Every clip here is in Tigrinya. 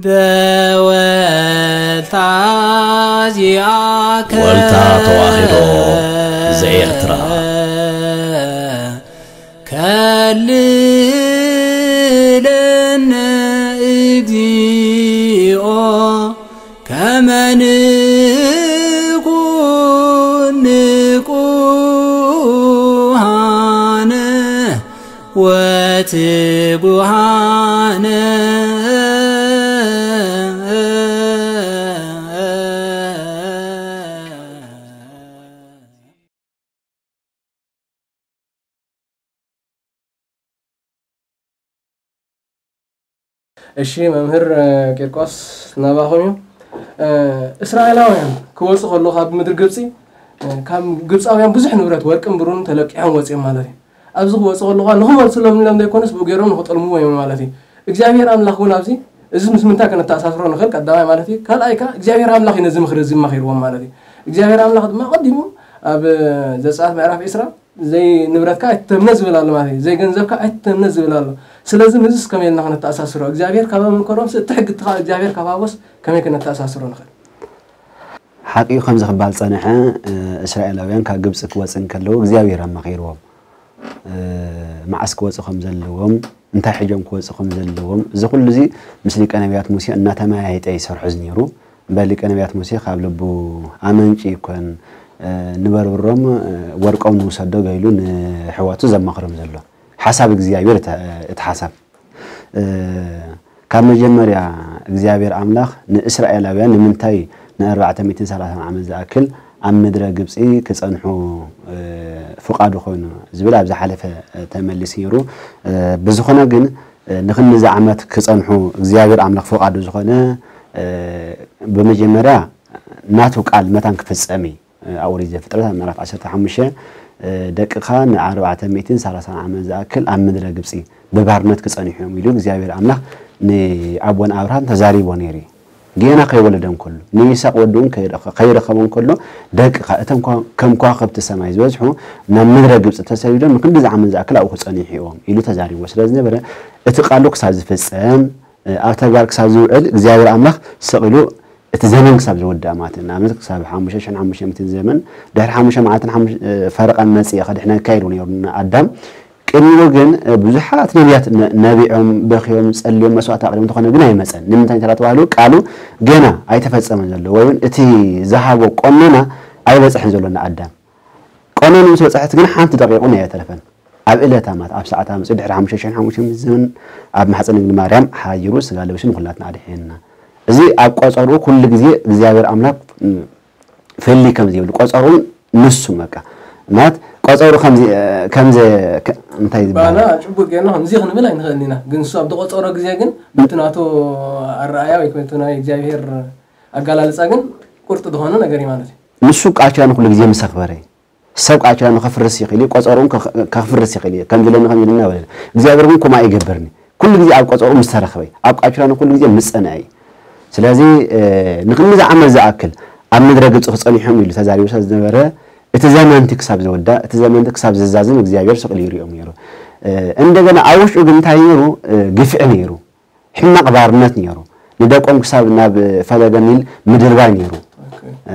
በወልታ ዚኣከ ወልታ ተዋሕዶ ዘኤርትራ። ከልለነ እግዚኦ ከመ ንኩን ንቁሃነ ወትጉሃነ። እሺ መምህር ቂርቆስ ናባኹም እዩ። እስራኤላውያን ክወፁ ከለዉ ካብ ምድሪ ግብፂ፣ ካብ ግብፃውያን ብዙሕ ንብረት ወርቅን ብሩን ተለቂሖም ወፂኦም ማለት እዩ። ኣብዚ ክወፁ ከለዉ ንኽመልስሎም ኢሎም ዘይኮነስ ብኡ ገይሮም ንኽጠልምዎ እዮም ማለት እዩ። እግዚኣብሔር ኣምላኽ እውን ኣብዚ እዚ ምስ ምንታይ ከነተኣሳስሮ ንኽእል ቀዳማይ ማለት እዩ። ካልኣይ ከዓ እግዚኣብሔር ኣምላኽ እዩ ነዚ ምኽሪ እዚ መኺርዎም ማለት እዩ። እግዚኣብሔር ኣምላኽ ድማ ቀዲሙ ኣብ ዘጸኣት ምዕራፍ ዕስራ ዘይ ንብረትካ ኣይትተምነ ዝብል ኣሎ ማለት እዩ። ዘይ ገንዘብካ ኣይትተምነ ዝብል ኣሎ። ስለዚ ምስዚ ከመይ ኢልና ከነተኣሳስሮ? እግዚኣብሔር ካብ ምንከሮምስ እቲ ሕጊ እቲ ካብ እግዚኣብሔር ካብ ሃቦስ ከመይ ከነተኣሳስሮ ንኽእል? ሓቂ እዩ፣ ከምዚ ክበሃል ዝጸንሐ፣ እ፣ እስራኤላውያን ካብ ግብጺ ክወጽእ እንከለዉ እግዚኣብሔር ኣማኺርዎም። እ፣ መዓስ ክወጽእ ከም ዘለዎም፣ እንታይ ሒዞም ክወጽእ ከም ዘለዎም፣ እዚ ኩሉ እዚ ምስ ሊቀ ነቢያት ሙሴ እናተመያየጠ ይሰርሖ ዝነይሩ። እምበር ሊቀ ነቢያት ሙሴ ካብ ልቡ ኣመንጭ ይኮን፣ እ፣ ንበርብሮም፣ እ፣ ወርቆም ንውሰዶ ገይሉ ንሕዋቱ ዘማኽሮም ዘሎ። ሓሳብ እግዚኣብሔር እተ-፣ እቲ ሓሳብ። እ፣ ካብ መጀመርያ እግዚኣብሔር ኣምላኽ ንእስራኤላውያን ንምንታይ ንኣርባዕተ ሚእትን ሰላሳን ዓመት ዝኣክል ኣብ ምድረ ግብጺ ክጸንሑ፣ እ፣ ፍቓዱ ኮይኑ ዝብል ኣብ ዝሓለፈ፣ እ፣ ተመሊሱ ነይሩ። እ፣ ብዝኾነ ግን፣ እ፣ ንኽንድዚ ዓመት ክጸንሑ እግዚኣብሔር ኣምላኽ ፍቓዱ ዝኾነ፣ እ፣ ብመጀመርያ ናቱ ቃል መታን ክፍጸም እዩ። ኣብ ኦሪት ዘፍጥረት ኣብ ምዕራፍ ዓሰርተ ሓሙሽተ፣ እ፣ ደቅኻ ንኣርባዕተ ሚእትን ሰላሳን ዓመት ዝኣክል ኣብ ምድረ ግብጺ ብባርነት ክጸንሑ እዮም ኢሉ እግዚኣብሔር ኣምላኽ ንኣቦና ኣብርሃም ተዛሪቦ ነይሩ እዩ። ጌና ከይወለደ እንከሎ፣ ንይስሐቅ ወዱ እውን ከይረኸ-፣ ከይረኸቦ እንከሎ፣ ደቅኻ እቶም ከ-፣ ከም ከዋኽብቲ ሰማይ ዝበዝሑ ናብ ምድረ ግብጺ ተሰዲዶም ንክንድዚ ዓመት ዝኣክል ኣብኡ ክጸንሑ እዮም ኢሉ ተዛሪቦ ስለ ዝነበረ፣ እቲ ቃሉ ክሳብ ዝፍጸም፣ እ፣ ኣብ ተግባር ክሳብ ዝውዕል እግዚኣብሔር ኣምላኽ ስቕ ኢሉ እቲ ዘመን ክሳብ ዝውዳእ ማለት እዩ። ንኣብነት ክሳብ ሓሙሽተ ሽሕን ሓሙሽተ ሚእትን ዘመን፣ ድሕሪ ሓሙሽተ መዓልትን ሓሙሽ-፣ እ፣ ፈረቓን መጺአ ከድሕነካ ኢሉ ነይሩ ንኣዳም። ቅድሚኡ ግን፣ እ፣ ብዙሓት ነቢያት ነ-፣ ነቢዖም፣ በኽዮም፣ ጸልዮም፣ መስዋዕቲ ኣቕሪቦም፣ እንተኾነ ግን ኣይመጸን። ንምንታይ እንተ ተባህሉ ቃሉ ገና ኣይተፈጸመን ዘሎ፣ ወይ እውን እቲ ዝሃቦ ቆመና ኣይበጽሐን ዘሎ ንኣዳም። ቀኖኑ ምስ በጽሐት ግን ሓንቲ ደቂቕ እውን ኣየተረፈን። ኣብ ዕለታ ማለት ኣብ ሰዓታ መጺኡ ድሕሪ ሓሙሽተ ሽሕን ሓሙሽተ ሚእትን ዘመን ኣብ ማሕጸን ድንግል ማርያም ሓዲሩ ስጋ ለቢሱ ንኹላትና ኣድሒንና። እዚ ኣብ ቆጸርኡ ኩሉ ግዜ እግዚኣብሔር ኣምላኽ፣ ም፣ ፍልይ ከም ዘይብሉ ቆጸርኡ ንሱ በቃ ማለት ቆጸርኡ ከም ዘ-፣ ከም ዘ-፣ ከ-፣ እንታይ ዝበሃል? ባና ጽቡቅ ጌርና ከምዚ ክንብል ኣይንኽእልን ኢና። ግን ንሱ ኣብ ዝቆጸሮ ግዜ ግን በቲ ናቱ ኣረኣያ ወይ በቲ ናይ እግዚኣብሔር ኣገላልጻ ግን ቁርጥ ዝኾነ ነገር እዩ ማለት እዩ። ንሱ ቃል ኪዳኑ ኩሉ ግዜ ምስ ኣኽበረ እዩ። ሰብ ቃል ኪዳኑ ከፍርስ ይኽእል እዩ፣ ቆጸርኡን ከ-፣ ከፍርስ ይኽእል እዩ። ከምዚ ኢለኒ፣ ከምዚ ኢለኒ እናበለ። እግዚኣብሔር ግን ከምኡ ኣይገብርን እዩ። ኩሉ ግዜ ኣብ ቆጸርኡ ምስ ተረኽበ እዩ። ኣብ ቃል ኪዳኑ ኩሉ ግዜ ምስ ጸንዐ እዩ። ስለዚ፣ እ፣ ንክንድዚ ዓመት ዝኣክል ኣብ ምድረ ግብጺ ክጸኒሖም ኢሉ ተዛሪቡ ስለ ዝነበረ፣ እቲ ዘመንቲ ክሳብ ዝውዳእ፣ እቲ ዘመንቲ ክሳብ ዝዛዝም እግዚኣብሔር ስቕ ኢሉ ይሪኦም ነይሩ። እ፣ እንደገና ኣብ ውሽጡ ግን እንታይ ነይሩ? እ፣ ግፍዒ ነይሩ። ሕማቕ ባርነት ነይሩ። ንደቆም ክሳብ ናብ ፈለገ ኒል ምድርባይ ነይሩ። ኦኬ። እ፣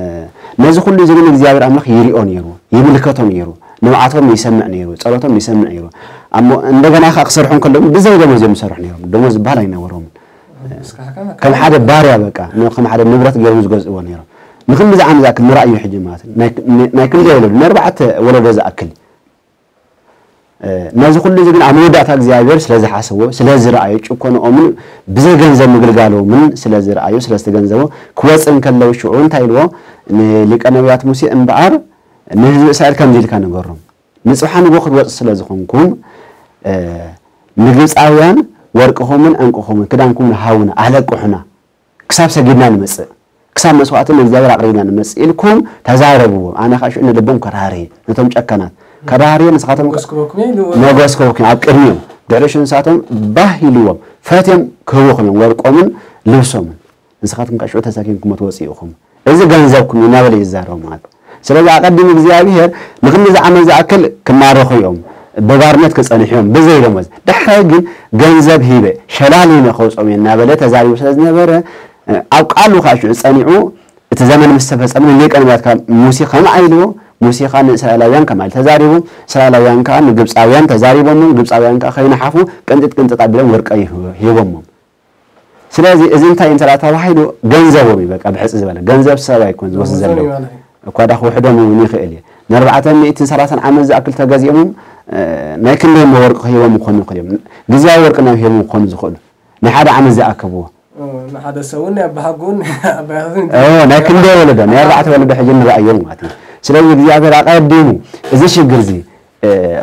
ነዚ ኩሉ እዚ ግን እግዚኣብሔር ኣምላኽ ይሪኦ ነይሩ፣ ይምልከቶ ነይሩ፣ ንብዓቶም ይሰምዕ ነይሩ፣ ጸሎቶም ይሰምዕ ነይሩ። እሞ እንደገና ከኣ ክሰርሑ እንከለዉ ብዘይ ደሞዝ እዮም ዝሰርሑ ነይሮም። ደሞዝ ዝበሃል ኣይነበሮምን። እስካ ከመ ከም ሓደ ባርያ በቃ፣ ን-፣ ከም ሓደ ንብረት ገይሮም ዝገዝእዎ ነይሮም። ንክንድዚ ዓመት ዝኣክል ንረኣዩ ሕጂ ማለት እዩ። ናይ፣ ናይ ክንደይ ወለዶ? ንኣርባዕተ ወለዶ ዝኣክል። እ፣ ነዚ ኩሉ እዚ ግን ኣብ መወዳእታ እግዚኣብሔር ስለ ዝሓሰቦ፣ ስለ ዝረኣዮ፣ ጭኮንኦምን ብዘይ ገንዘብ ምግልጋሎምን ስለ ዝረኣዮ፣ ስለ ዝተገንዘቦ፣ ክወጽእ እንከለዉ ሽዑ እንታይ ኢልዎ? ንሊቀ ነቢያት ሙሴ እምበኣር ንህዝቢ እስራኤል ከምዚ ኢልካ ንገሮም፣ ንጽባሕ ንግሆ ክትወጽእ ስለ ዝኾንኩም፣ እ፣ ንግብጻውያን ወርቅኹምን ዕንቁኹምን ክዳንኩምን ሃቡና፣ ኣለቅሑና። ክሳብ ሰጊድና ንመጽእ፣ ክሳብ መስዋዕቲ ንእግዚኣብሔር ኣቕሪብና ንመጽእ ኢልኩም ተዛረብዎም። ኣነ ኸኣ ሽዑ ንልቦም ከራህርየ፣ ነቶም ጨካናት ከራህርየ፣ ንስኻቶም መጎስ ክበኩም እየ ኢሉ። መጎስ ክበኩም ኣብ ቅድሚኦም። ድሕሪ ሽዑ ንሳቶም ባህ ኢልዎም፣ ፈትዮም ክህቡኹም እዮም ወርቆምን ልብሶምን። ንስኻትኩም ከኣ ሽዑ ተሰኪምኩሞ ትወጽኡ ኢኹም። እዚ ገንዘብኩም እዩ እናበለ እዩ ዝዛረቦም ማለት እዩ። ስለዚ ኣቐዲሙ እግዚኣብሔር ንክንድዚ ዓመት ዝኣክል ክማረኹ እዮም፣ ብባርነት ክጸንሑ እዮም ብዘይ ደሞዝ። ዳሕራይ ግን ገንዘብ ሂበ ሸላሊመ ከውጾም እየ እናበለ ተዛሪቡ ስለ ዝነበረ፣ ኣብ ቃሉ ከዓ ሽዑ ጸኒዑ፣ እቲ ዘመን ምስ ተፈጸመ ንሊቀ ነቢያት ከዓ ሙሴ ከምኣ ኢልዎ፣ ሙሴ ከዓ ንእስራኤላውያን ከምኣ ኢሉ ተዛሪቡ፣ እስራኤላውያን ከዓ ንግብፃውያን ተዛሪቦሞም፣ ግብፃውያን ከዓ ከይነሓፉ ቅንጥጥ ቅንጥጥ ኣቢሎም ወርቂ ሂቦሞም። ስለዚ እዚ እንታይ እንተ ተባሂሉ ገንዘቦም እዩ። በቃ ብሕፂ ዝበለ ገንዘብ ሰብ ኣይኮን ዝወስድ ዘሎ። እኳ ዳ ክውሕዶም እውን ይኽእል እዩ። ንኣርባዕተ ሚእትን ሰላሳን ዓመት ዝኣክል ተገዚኦምም ናይ ክንደይ እሞ ወርቂ ክህቦም ክኾኑ ይኽእል እዮም። ግዝያዊ ወርቂ ናብ ሂቦም ክኾኑ ዝኽእሉ ናይ ሓደ ዓመት ዝኣከብዎ። ንሓደ ሰብን ኣባሃጉን ኣባያትን ናይ ክንደይ ወለዶ ናይ ኣርባዕተ ወለዶ ሕጂ ንረኣዮም ማለት እዩ። ስለዚ እግዚኣብሔር ኣቐዲሙ እዚ ሽግር እዚ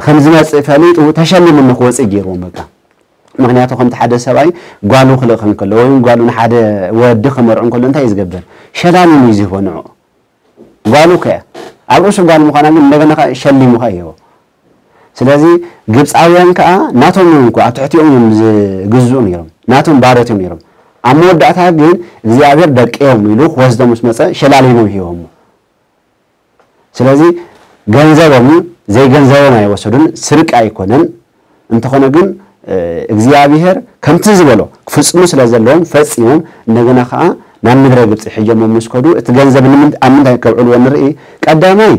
ከም ዝመፅእ ፈሊጡ ተሸሊሙ ንክወፅእ ገይርዎም በቃ። ምክንያቱ ከምቲ ሓደ ሰብኣይ ጓሉ ክልእኽ እንከሎ ወይ ጓሉ ንሓደ ወዲ ክመርዑ እንከሎ እንታይ እዩ ዝገብር? ሸላሊሙ እዩ ዝህቦ ንዕኡ። ጓሉ ከ ኣብ ርእሱ ጓል ምዃና ግን እንደገና ሸሊሙ ከ ይህቦ። ስለዚ ግብፃውያን ከዓ ናቶም እዮም እኮ ኣብ ትሕቲኦም እዮም ዝግዝኡ ነይሮም፣ ናቶም ባሮት እዮም ነይሮም። ኣብ መወዳእታ ግን እግዚኣብሔር ደቂ እዮም ኢሉ ክወስዶም ምስ መፀ ሸላሊሞም ሂቦሞ። ስለዚ ገንዘቦም እዩ፣ ዘይገንዘቦም ኣይወሰዱን፣ ስርቂ ኣይኮነን። እንተኾነ ግን እግዚኣብሔር ከምቲ ዝበሎ ክፍፅሙ ስለ ዘለዎም ፈፂሞም። እንደገና ከዓ ናብ ምድረ ግብፂ ሒዞሞ ምስ ከዱ እቲ ገንዘብ ኣብ ምንታይ ከብዕልዎ ንርኢ። ቀዳማይ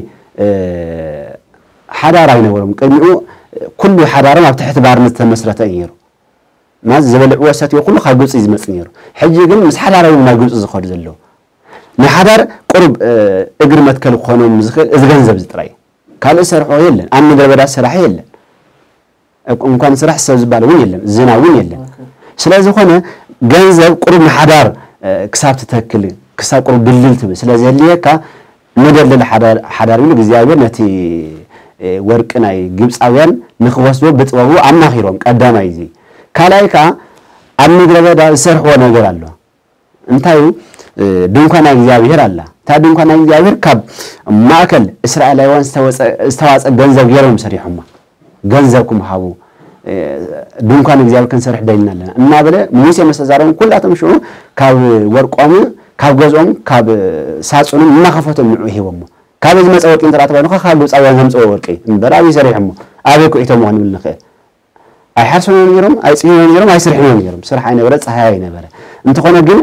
ሓዳር ኣይነበሮም። ቅድሚኡ ኩሉ ሓዳሮም ኣብ ትሕቲ ባርነት ዝተመስረተ እዩ ነይሩ። ማለት ዝበልዕዎ ሰትዮ ኩሉ ካብ ግብፂ እዩ ዝመፅእ ነይሩ። ሕጂ ግን ምስ ሓዳር እዮም ናብ ግብፂ ዝኸዱ ዘለዉ። ንሓዳር ቁሩብ እግሪ መትከል ክኾኖም ዝኽእል እዚ ገንዘብ እዚ ጥራይ እዩ። ካልእ ዝሰርሕዎ የለን። ኣብ ምድረ በዳ ስራሕ የለን። እንኳን ስራሕ ሰብ ዝበሃል እውን የለን፣ ዝናብ እውን የለን። ስለ ዝኾነ ገንዘብ ቁሩብ ንሓዳር ክሳብ ትተክል ክሳብ ቁሩብ ድልድል ትብል ስለ ዘድልየካ ንደልድል ሓዳር ኢሉ እግዚኣብሔር ነቲ ወርቂ ናይ ግብፃውያን ንክወስዶ ብጥበቡ ኣማኺሮም። ቀዳማይ እዚ። ካልኣይ ከዓ ኣብ ምድረ በዳ ዝሰርሕዎ ነገር ኣሎ። እንታይ እዩ? ድንኳን ናይ እግዚኣብሔር ኣላ። እታ ድንኳን ናይ እግዚኣብሔር ካብ ማእከል እስራኤላውያን ዝተዋፀ ገንዘብ ገይሮም ሰሪሖማ። ገንዘብኩም ሃቡ፣ ድንኳን እግዚኣብሔር ክንሰርሕ ደሊና ኣለና እናበለ ሙሴ ምስ ተዛረቦም ኩላቶም ሽዑ ካብ ወርቆምን ካብ ገዝኦም ካብ ሳፅኖም እናኸፈቶም ንዑ ሂቦሞ። ካበይ ዝመፀ ወርቂ እንተ ተባሂሉ ካብ ግብፃውያን ዘምፅኦ ወርቂ እምበር ኣበይ ሰሪሖሞ ኣበይ ኩዒቶሞ ክንብል ንኽእል። ኣይሓርሱን እዮም ነይሮም፣ ኣይፅህዩን እዮም ነይሮም፣ ኣይስርሕን እዮም ነይሮም። ስራሕ ኣይነበረ፣ ፀሃይ ኣይነበረ። እንተኾነ ግን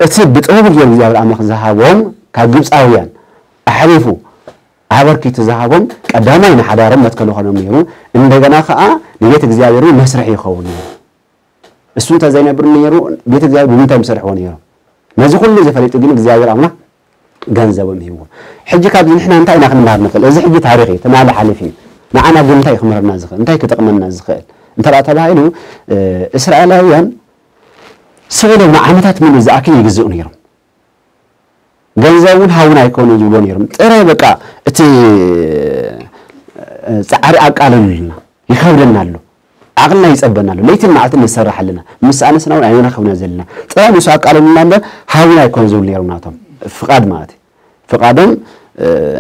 እቲ ብጥበቡ ገይሩ እግዚኣብሔር ኣምላኽ ዝሃቦም ካብ ግብፃውያን ኣሕሊፉ ኣበርኪቱ ዝሃቦም ቀዳማይ ንሓዳሮም መትከል ይኾኖም ነይሩ። እንደገና ከዓ ንቤት እግዚኣብሔር እውን መስርሒ ይኸውን ነይሩ። እሱ እንተዘይነብር ነይሩ ቤት እግዚኣብሔር ብምንታይ ምሰርሕዎ ነይሮም? ነዚ ኩሉ እዚ ፈሊጡ ግን እግዚኣብሔር ኣምላኽ ገንዘቦም ሂብዎ። ሕጂ ካብዚ ንሕና እንታይ ኢና ክንመሃር ንኽእል? እዚ ሕጂ ታሪኽ እዩ፣ ትማሊ ሓሊፉ እዩ። ንዓና ግን እንታይ ክምህረና ዝኽእል? እንታይ ክጠቕመና ዝኽእል? እንተ ደኣ ተባሂሉ እስራኤላውያን ስቕ ኢሎም ንዓመታት ምሉእ ዝኣክል ይግዝኡ ነይሮም። ገንዘብ እውን ሃቡና ኣይኮኑን ዝብሉ ነይሮም። ጥራይ በቃ እቲ ፃዕሪ ኣቃለሉልና፣ ይኸብደና ኣሎ፣ ዓቕልና ይፀበና ኣሎ፣ ለይትን መዓልትን ንሰርሕ ኣለና፣ ምስ ኣነስና እውን ኣይንረኸብና ዘለና። ጥራይ ንሱ ኣቃለሉልና እምበር ሃቡና ኣይኮኑን ዝብሉ ነይሮም ናቶም ፍቓድ ማለት እዩ። ፍቓዶም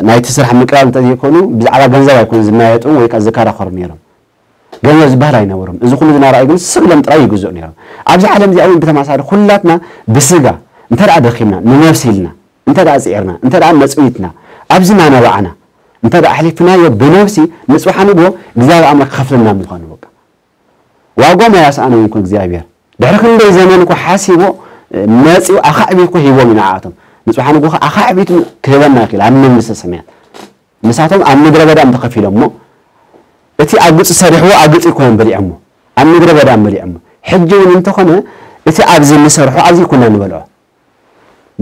ናይቲ ስራሕ ምቅላል እንተዘይኮኑ ብዛዕባ ገንዘብ ኣይኮኑን ዝመያየጡ ወይ ከዓ ዝከራኸሩ ነይሮም። ገንዘብ ዝበሃል ኣይነበሮም። እዚ ኩሉ ዝናረኣዩ ግን ስቕ ኢሎም ጥራይ ይግዝኡ ነይሮም። ኣብዚ ዓለም እዚኣ እውን ብተመሳሳሊ ኩላትና ብስጋ እንተ ደኣ ደኺምና፣ ንነብሲ ኢልና እንተ ደኣ ፅዒርና፣ እንተ ደኣ መፅዊትና፣ ኣብዚ እናነባዕና እንተ ደኣ ኣሕሊፍናዮ ብነብሲ ንፅባሕ ንግሆ እግዚኣብሔር ኣምላኽ ክኸፍለና ምዃኑ በቃ። ዋጎም ኣያስኣኖም ይኹን እግዚኣብሔር። ድሕሪ ክንደይ ዘመን እኮ ሓሲቦ መፂኡ ኣኻዕቢቱ እኮ ሂቦም እዩ ንዓኣቶም። ንፅባሕ ንግሆ ኣኻዕቢቱ ክህበና ይኽእል ኣብ መንግስተ ሰማያት። ንሳቶም ኣብ ምድረ በዳ እዮም ተኸፊሎም እሞ እቲ ኣብ ግብፂ ሰሪሕዎ ኣብ ግብፂ ኣይኮነን በሊዖሞ ኣብ ምድረ በዳ እዮም በሊዖሞ። ሕጂ እውን እንተኾነ እቲ ኣብዚ ንሰርሖ ኣብዚ ኣይኮና ንበልዖ።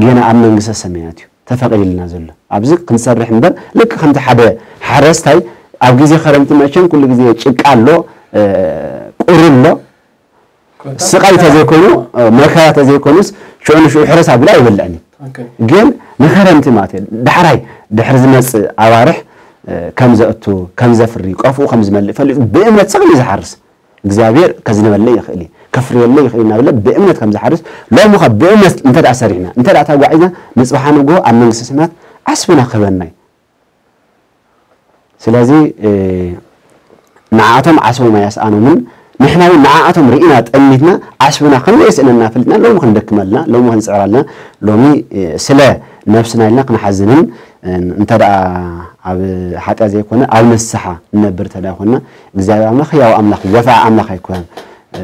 ጌና ኣብ መንግስተ ሰማያት እዩ ተፈቒድልና ዘሎ። ኣብዚ ክንሰርሕ እምበር ልክ ከምቲ ሓደ ሓረስታይ ኣብ ግዜ ኸረምቲ መቸም ኩሉ ግዜ ጭቃ ኣሎ፣ ቁሪ ኣሎ፣ ስቓይ ተዘይኮኑ መከራ ተዘይኮኑስ ሽዑ ንሽዑ ሕረስ ኣቢሉ ኣይበልዕን እዩ። ግን ንኸረምቲ ማለት እዩ ዳሕራይ ድሕሪ ዝመፅእ ኣዋርሕ ከም ዘእቱ ከም ዘፍሪ ቆፍኡ ከም ዝመልእ ፈሊጡ ብእምነት ስቕ ኢሉ ዝሓርስ እግዚኣብሔር ከዝንበለይ ይኽእል እዩ ከፍርየለይ ይኽእል እናበለ ብእምነት ከም ዝሓርስ ሎሚ ኸ ብእምነት እንተ ደኣ ሰሪሕና እንተ ደኣ ተጓዒዝና ንፅባሓ ንግሆ ኣብ መንግስተ ሰማያት ዓስብና ክህበና እዩ። ስለዚ ንዓኣቶም ዓስቦም ኣያስኣኖምን ንሕና እውን ንዓኣቶም ርኢና ጠሚትና ዓስብና ከም ዘየስእነና ፈሊጥና ሎሚ ክንደክም ኣለና፣ ሎሚ ክንፅዕር ኣለና። ሎሚ ስለ ነብስና ኢልና ክንሓዝንን፣ እ፣ እንተ ደኣ ኣብ ሓጢኣት ዘይኮነ ኣብ ንስሓ ንነብር እንተ ደኣ ኮይንና፣ እግዚኣብሔር ኣምላኽ ህያው ኣምላኽ እዩ፣ ገፋዒ ኣምላኽ ኣይኮነን። እ፣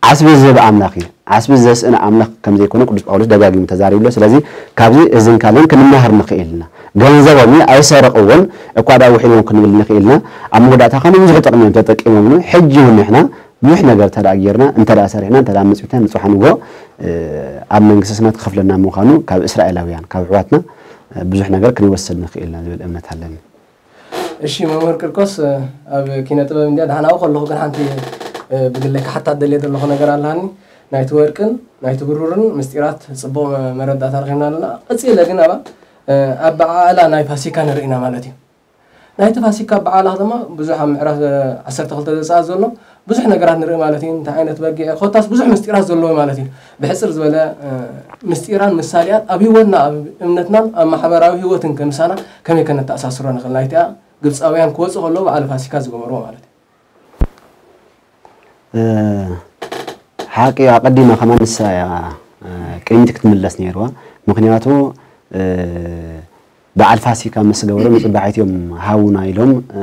ዓስቢ ዝህብ ኣምላኽ እዩ። ዓስቢ ዘስእን ኣምላኽ ከም ዘይኮነ ቅዱስ ጳውሎስ ደጋጊሙ ተዛሪቡ ኣሎ። ስለዚ ካብዚ እዝን ካልእን ክንመሃር ንኽእል ኢና። ገንዘቦም እዩ፣ ኣይሰርቕዎን፣ እኳ ደኣ ውሒዶም ክንብል ንኽእል ኢና። ኣብ መወዳእታ ከኣ ንብዙሕ ጥቕሚ እዮም ተጠቂሞምሉ። ሕጂ እውን ንሕና ብዙሕ ነገር እንተ ደኣ ጌርና፣ እንተ ደኣ ሰሪሕና፣ እንተ ደኣ መጽዊትና፣ ንጽባሕ ንግሆ፣ እ፣ ኣብ መንግስተ ሰማያት ክኸፍለና ምዃኑ ካብ እስራኤላውያን፣ ካብ ኣሕዋትና፣ እ፣ ብዙሕ ነገር ክንወስድ ንኽእል ኢና ዝብል እምነት ኣለኒ። እሺ መምህር ቂርቆስ፣ እ፣ ኣብ ኪነ ጥበብ እንድያ ደሓን ኣብኡ ከለኹ ግን ሓንቲ፣ እ፣ ብግለይ ክሓታ ደልየ ዘለኹ ነገር ኣለኒ። ናይቲ ወርቅን ናይቲ ብሩርን ምስጢራት ጽቡቕ መ-፣ መረዳእታ ረኺብና ኣለና። ቀጺለ ግን ኣባ፣ እ፣ ኣበዓዕላ ናይ ፋሲካ ንርኢ ኢና ማለት እዩ። ናይቲ ፋሲካ ኣበዓዕላ ድማ ብዙሕ ኣብ ምዕራፍ፣ እ፣ ዓሰርተ ክልተ ዘጸኣት ዘሎ ብዙሕ ነገራት ንርኢ ማለት እዩ። እንታይ ዓይነት በጊዕ ኮታስ ብዙሕ ምስጢራት ዘለዎ ማለት እዩ። ብሕጽር ዝበለ፣ እ፣ ምስጢራን ምሳሌኣን ኣብ ህይወትና፣ ኣብ እምነትናን ኣብ ማሕበራዊ ህይወትን ከምሳና ከመይ ከነተኣሳስሮ ንኽእል? ናይቲኣ ግብጻውያን ክወጹ ከለዉ በዓል ፋሲካ ዝገበርዎ ማለት እዩ። እ፣ ሓቂ ኣቐዲማ ከማን ንሳ እያ፣ እ፣ ቅድሚት ክትምለስ ነይርዋ። ምኽንያቱ፣ እ፣ በዓል ፋሲካ ምስ ገበሩ ንጽባሒት እዮም ሃቡና ኢሎም፣ እ፣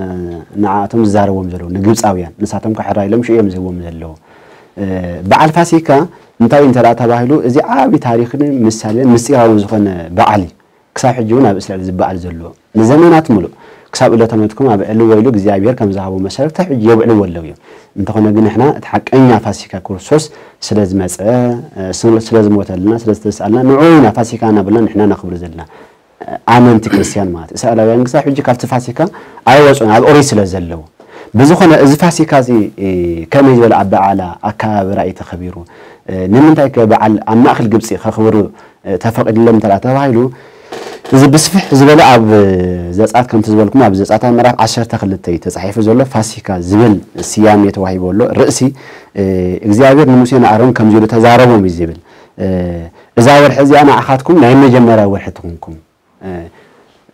ንዓኣቶም ዝዛረብዎም ዘለዉ ንግብጻውያን። ንሳቶም ከ ሕራይ ኢሎም ሽዑ እዮም ዝህብዎም ዘለዉ። እ፣ በዓል ፋሲካ እንታይ እዩ እንተ ደኣ ተባሂሉ፣ እዚ ዓቢ ታሪኽን ምሳሌን ምስጢራውን ዝኾነ በዓል እዩ። ክሳብ ሕጂ እውን ኣብ እስራኤል ዝበዓል ዘሎ። ንዘመናት ምሉእ ክሳብ ዕለተ ሞትኩም ኣብዕልዎ ኢሉ እግዚኣብሔር ከም ዝሃቦ መሰረት ክሳብ ሕጂ የብዕልዎ ኣለዉ እዮም። እንተኾነ ግን ንሕና እቲ ሓቀኛ ፋሲካ ክርስቶስ ስለ ዝመጸ፣ እ፣ ስለ፣ ስለ ዝሞተልና፣ ስለ ዝተስኣልና፣ ንዑ ኢና ፋሲካ እናበልና ንሕና ነኽብር ዘለና፣ እ፣ ኣመንቲ ክርስትያን ማለት እዩ። እስራኤላውያን ክሳብ ሕጂ ካብቲ ፋሲካ ኣይወጹን፣ ኣብ ኦሪት ስለ ዘለዉ። ብዝኾነ እዚ ፋሲካ እዚ፣ እ፣ ከመይ ዝበለ ኣበዓዕላ ኣከባብራ እዩ ተኸቢሩ? እ፣ ንምንታይ ከ በዓል ኣብ ማእከል ግብጺ ከኽብሩ፣ እ፣ ተፈቒድሎም እንተ ደኣ ተባሂሉ፣ እዚ ብስፍሕ ዝበለ ኣብ ዘጸኣት ከምቲ ዝበልኩም ኣብ ዘጸኣት ኣብ ምዕራፍ ዓሰርተ ክልተ እዩ ተጻሒፉ ዘሎ። ፋሲካ ዝብል ስያሜ ተዋሂቡ ኣሎ። ርእሲ፣ እ፣ እግዚኣብሔር ንሙሴን ንኣሮን ከምዚ ኢሉ ተዛረቦም እዩ ዝብል። እ፣ እዛ ወርሒ እዚኣ ንዓኻትኩም ናይ መጀመርያ ወርሒ ትኹንኩም። እ፣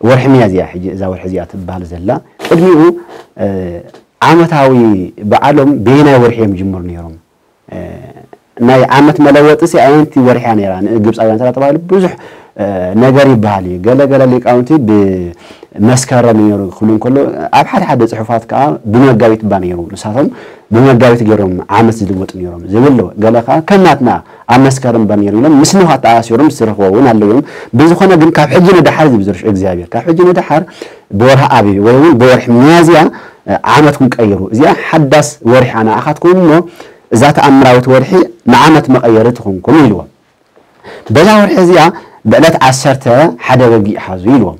ወርሒ ሚያዝያ ሕጂ እዛ ወርሒ እዚኣ ትበሃል ዘላ። ቅድሚኡ፣ እ፣ ዓመታዊ በዓሎም በየናይ ወርሒ እዮም ይጅምሩ ነይሮም? እ፣ ናይ ዓመት መለወጢ ሲ ኣየንቲ ወርሒ እያ ነይራ? ንግብፃውያን እንተ ተባሂሉ ብዙሕ፣ እ፣ ነገር ይበሃል እዩ። ገለ ገለ ሊቃውንቲ ብመስከረም ነይሩ ክብሉ እንከሎ፣ ኣብ ሓደ ሓደ ፅሑፋት ከዓ ብመጋቢት እባ ነይሩ። ንሳቶም ብመጋቢት ገይሮም ዓመት ዝልወጡ ነይሮም ዝብል ኣሎ። ገለ ከዓ ከም ናትና ኣብ መስከረም እባ ነይሩ ኢሎም ምስ ኖህ ኣተኣሳሲሮም ዝተረኽቦ እውን ኣለዉ እዮም። ብዝኾነ ግን ካብ ሕጂ ንደሓር ዝብል ዝርሽ እግዚኣብሔር፣ ካብ ሕጂ ንደሓር ብወርሒ ኣቢብ ወይ እውን ብወርሒ ሚያዝያ፣ እ፣ ዓመትኩም ቀይሩ። እዚኣ ሓዳስ ወርሒ እያ ንኣኻትኩም እሞ እዛ ተኣምራዊት ወርሒ ንዓመት መቐየሪ ትኹንኩም ኢልዎም። በዛ ወርሒ እዚኣ ብዕለት ዓሰርተ ሓደ በጊዕ ሓዙ ኢልዎም።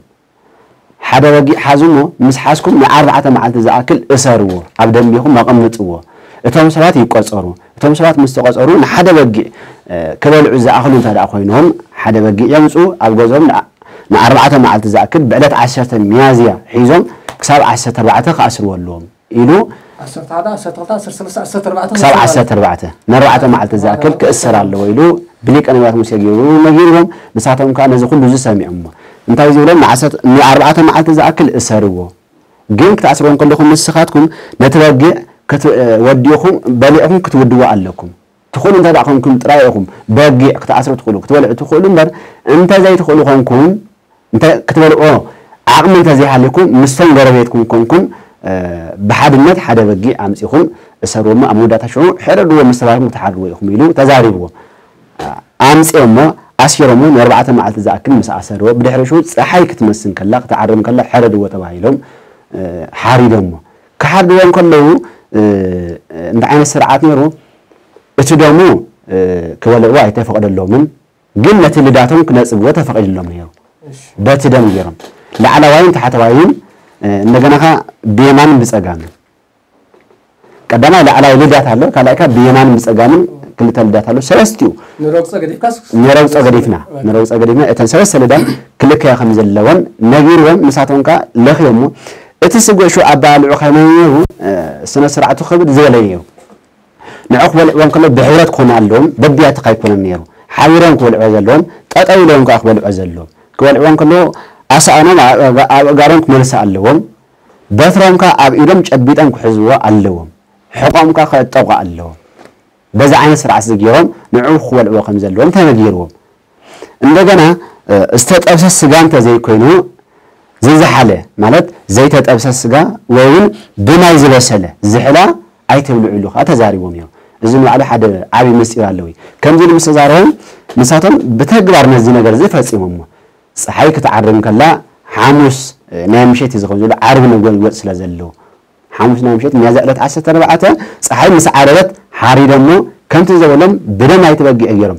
ሓደ በጊዕ ሓዙ እሞ ምስ ሓዝኩም ንኣርባዕተ መዓልቲ ዝኣክል እሰርዎ፣ ኣብ ደንቢኹም ኣቐምጥዎ። እቶም ሰባት ይቆጸሩ። እቶም ሰባት ምስ ተቆጸሩ ንሓደ በጊዕ፣ እ፣ ክበልዑ ዝኣኽሉ እንተ ደኣ ኮይኖም ሓደ በጊዕ የምጽኡ፣ ኣብ ገዝኦም ንኣ-፣ ንኣርባዕተ መዓልቲ ዝኣክል ብዕለት ዓሰርተ ሚያዝያ ሒዞም ክሳብ ዓሰርተ ኣርባዕተ ክኣስርዎ ኣለዎም ኢሉ ዓሰርተ ሓደ፣ ዓሰርተ ክልተ፣ ዓሰርተ ሰለስተ፣ ዓሰርተ ኣርባዕተ ክሳብ ክእሰር ኣለዎ። ዓሰርተ ኣርባዕተ ንኣርባዕተ መዓልቲ ዝኣክል ክእሰር ኣለዎ ኢሉ ብሊቀ ነቢያት ሙሴ ገይሩ ነጊርዎም። ንሳቶም ከኣ ነዚ ኩሉ እዚ ሰሚዖምዎ። እንታይ ዝብሎም? ንዓሰርተ፣ ንኣርባዕተ መዓልቲ ዝኣክል እሰርዎ። ግን ክትኣስርዎ እንከለኹም ንስኻትኩም ነቲ በጊዕ ክት-፣ ወዲኹም በሊዕኹም ክትውድዎ ኣለኩም። ትኽእሉ እንተ ደኣ ኮንኩም ጥራይ ኢኹም በጊዕ ክትኣስሩ ትኽእሉ፣ ክትበልዑ ትኽእሉ እምበር፣ እንተ ዘይትኽእሉ ኮንኩም፣ እንተ ክትበልዑ ዓቕሚ እንተ ዘይሃልዩኩም፣ ምስቶም ጎረቤትኩም ኮንኩም፣ እ፣ ብሓድነት ሓደ በጊዕ ኣምጺኹም እሰርዎ እሞ፣ ኣብ መወዳእታ ሽዑ ሕረድዎ ምስ ተባህልኩም ክትሓርድዎ ኢኹም ኢሉ ተዛሪብዎም። ኣምጺኦሞ፣ ኣሲሮሞ፣ ንኣርባዕተ መዓልቲ ዝኣክል ምስ ኣሰርዎ፣ ብድሕሪ ሽዑ ጸሓይ ክትመስን ከላ፣ ክትዓርብ ከላ፣ ሕረድዎ ተባሂሎም፣ እ፣ ሓሪዶሞ። ክሓርድዎ እንከለዉ፣ እ፣ እንታይ ዓይነት ስርዓት ነይሩ? እቲ ደሙ፣ እ፣ ክበልዕዎ ኣይተፈቕደሎምን፣ ግን ነቲ ልዳቶም ክነጽግዎ ተፈቒድሎም ነይሩ። እሺ። በቲ ደም ገይሮም። ላዕለዋይን ታሕተዋይን፣ እ፣ እንደገና ኸኣ ብየማንን ብጸጋምን። ቀዳማይ ላዕለዋይ ልዳት ኣሎ፣ ካልኣይ ከኣ ብየማንን ብጸጋምን ክልተ ልዳት ኣሎ። ሰለስቲኡ ንረግጾ ገዲፍካስ? ንረግጾ ገዲፍና፣ ንረግጾ ገዲፍና እተን ሰለስተ ልዳት ክልከያ ከም ዘለወን ነጊርዎም፣ ንሳቶም ከኣ ለኽዮሞ። እቲ ስግወ ሽዑ ኣበላልዑ ከመይ ነይሩ? እ፣ ስነ ስርዓቱ ክብድ ዝበለ ነይሩ። ንዑ ክበልዕዎ እንከሎ ብሕብረት ክኾኑ ኣለዎም፣ በብያትኻ ኣይኮነን ነይሩ። ሓቢሮም ክበልዕዎ ዘለዎም፣ ጠጠው ኢሎም ከኣ ክበልዕዎ ዘለዎም። ክበልዕዎ እንከሎ ኣሳእኖም ኣብ፣ ኣብ፣ ኣብ ኣእጋሮም ክመልሱ ኣለዎም። በትሮም ከኣ ኣብ ኢዶም ጨቢጦም ክሕዝዎ ኣለዎም። ሕቖም ከኣ ከእጠቑ ኣለዎም። በዚ ዓይነት ስርዓት እዚ ገይሮም ንዑ ክበልዕዎ ከም ዘለዎም ተነጊርዎም። እንደገና ዝተጠብሰ ስጋ እንተዘይኮይኑ፣ ዝዝሓለ ማለት ዘይተጠብሰ ስጋ ወይ እውን ብማይ ዝበሰለ ዝሕላ ኣይትብልዑ ኢሉ ከዓ ተዛሪቦም እዮም። እዚ ንባዕሉ ሓደ ዓብዪ ምስጢር ኣለዎ። ከምዚ ኢሉ ምስ ተዛረቦም፣ ንሳቶም ብተግባር ነዚ ነገር እዚ ፈፂሞሞ። ፀሓይ ክትዓርብ ከላ ሓሙስ ናይ ምሸት እዩ ዝኸውን ዘሎ፣ ዓርቢ ነጎልጎል ስለ ዘለዎ፣ ሓሙስ ናይ ምሸት ሚያዝያ ዕለት ዓሰርተ ኣርባዕተ ፀሓይ ምስ ዓረበት ሓሪዶሞ፣ ከምቲ ዝበሎም ብደም ኣይትበጊዕ ገይሮም።